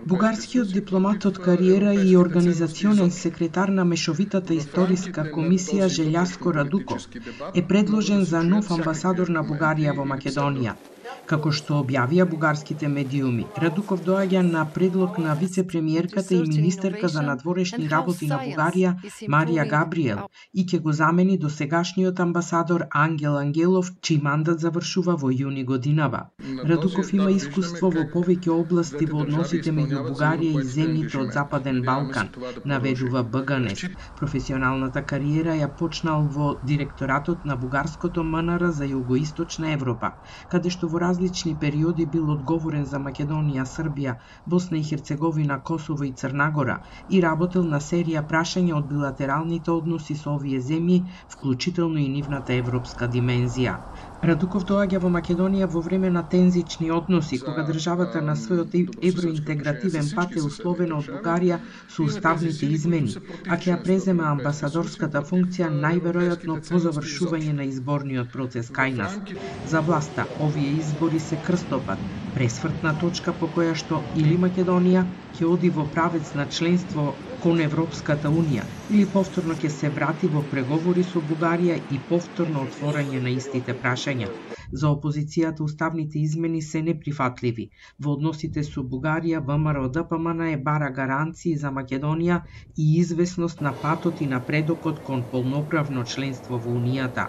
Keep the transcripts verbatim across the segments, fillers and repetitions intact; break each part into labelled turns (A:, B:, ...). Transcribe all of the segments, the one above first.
A: Бугарскиот дипломат од кариера и организационен секретар на Мешовитата историска комисија Желјаско Радуков е предложен за нов амбасадор на Бугарија во Македонија. Како што објавија бугарските медиуми, Радуков доаѓа на предлог на вице-премиерката и министерка за надворешни работи на Бугарија Марија Габриел и ќе го замени досегашниот амбасадор Ангел Ангелов, чиј мандат завршува во јуни годинава. Радуков има искуство во повеќе области во односите меѓу Бугарија и земјите од Западен Балкан, наведува Б Г Н Е С. Професионалната кариера ја почнал во директоратот на бугарското М Н Р за Југоисточна Европа, каде што во различни периоди бил одговорен за Македонија, Србија, Босна и Херцеговина, Косово и Црнагора и работел на серија прашања од билатералните односи со овие земји, вклучително и нивната европска димензија. Радуков доаѓа во Македонија во време на тензични односи, кога државата на својот евроинтегративен пат е условена од Бугарија со уставните измени, а ќе ја преземе амбасадорската функција најверојатно по завршување на изборниот процес кај нас. За власта, овие избори се крстопат, пресвртна точка по која што или Македонија ќе оди во правец на членство кон Европската Унија, или повторно ќе се врати во преговори со Бугарија и повторно отворање на истите прашања. За опозицијата уставните измени се неприфатливи. Во односите со Бугарија, В М Р Д П М Н е бара гаранции за Македонија и известност на патот и напредокот кон полноправно членство во Унијата.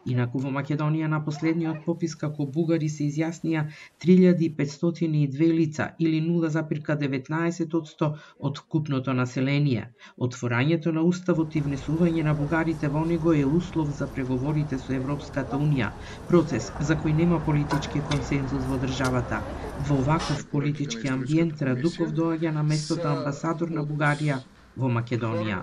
A: Инаку во Македонија на последниот попис како бугари се изјаснија три илјади петстотини и две лица или нула зарез деветнаесет одсто од вкупното население. Отворањето на уставот и внесување на бугарите во него е услов за преговорите со Европската Унија, процес за кој нема политички консензус во државата. Во ваков политички амбиент Радуков доаѓа на местото амбасадор на Бугарија во Македонија.